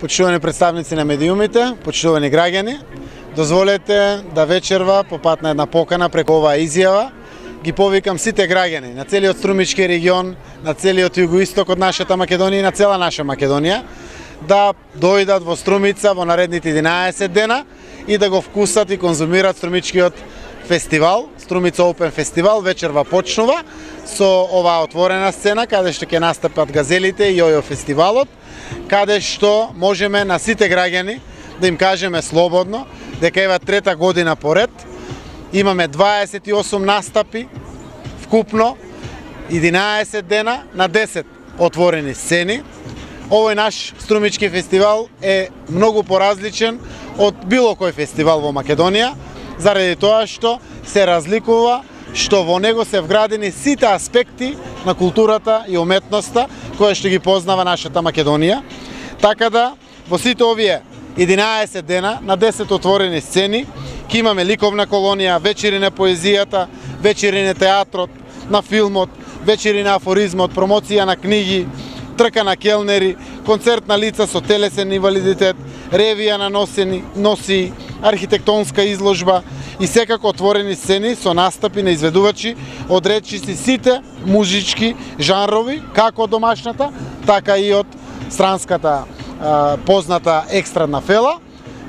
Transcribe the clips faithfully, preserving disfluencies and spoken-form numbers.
Почитувани представници на медиумите, почитувани граѓани, дозволете да вечерва по пат на една покана преку оваа изјава ги повикам сите граѓани на целиот Струмички регион, на целиот југоисток од нашата Македонија и на цела наша Македонија да дојдат во Струмица во наредните единаесет дена и да го вкусат и конзумират Струмичкиот фестивал, Струмица Open фестивал. Вечерва почнува со оваа отворена сцена каде што ќе настапат газелите и јојо фестивалот, каде што можеме на сите граѓани да им кажеме слободно дека ева трета година поред имаме дваесет и осум настапи вкупно, единаесет дена на десет отворени сцени. Овој наш Струмички фестивал е многу поразличен од било кој фестивал во Македонија, заради тоа што се разликува што во него се вградени сите аспекти на културата и уметноста која што ги познава нашата Македонија. Така да во сите овие единаесет дена на десет отворени сцени ќе имаме ликовна колонија, вечери на поезијата, вечери на театрот, на филмот, вечери на афоризмот, промоција на книги, трка на келнери, концерт на лица со телесен инвалидитет, ревија на носени, носи, архитектонска изложба и секако отворени сцени со настапи на изведувачи од речиси сите музички жанрови, како од домашната, така и од странската а, позната екстрадна фела.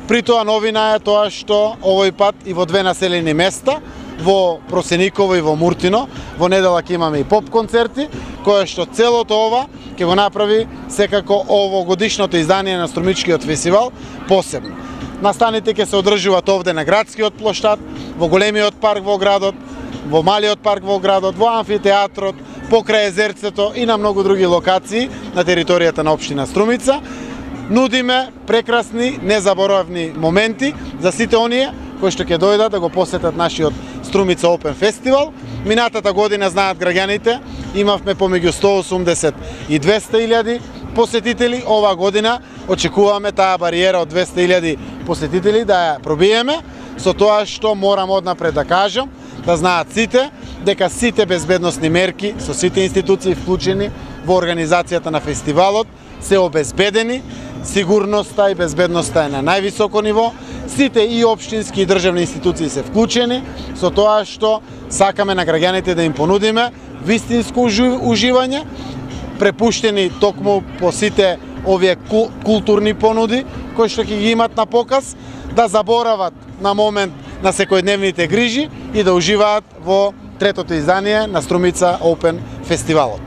При тоа новина е тоа што овој пат и во две населени места, во Просениково и во Муртино, во недела ќе имаме и поп концерти, кое што целото ова ќе го направи секако овогодишното издание на Струмичкиот фестивал посебно. Настаните ќе се одржуваат овде на градскиот плоштад, во големиот парк во градот, во малиот парк во градот, во амфитеатрот, покрај езерцето и на многу други локации на територијата на општина Струмица. Нудиме прекрасни, незаборавни моменти за сите оние кои што ќе дојдат да го посетат нашиот Струмица Open фестивал. Минатата година, знаат граѓаните, имавме помеѓу сто и осумдесет и двесте илјади посетители. Ова година очекуваме таа бариера од двесте илјади посетители да ја пробиеме, со тоа што морам однапред да кажам, да знаат сите дека сите безбедносни мерки со сите институции вклучени во организацијата на фестивалот се обезбедени, сигурноста и безбедноста е на највисоко ниво, сите и општински и државни институции се вклучени, со тоа што сакаме на граѓаните да им понудиме вистинско уживање, препуштени токму по сите овие културни понуди кои што ќе ги имат на показ, да заборават на момент на секојдневните грижи и да уживаат во третото издание на Струмица Open фестивалот.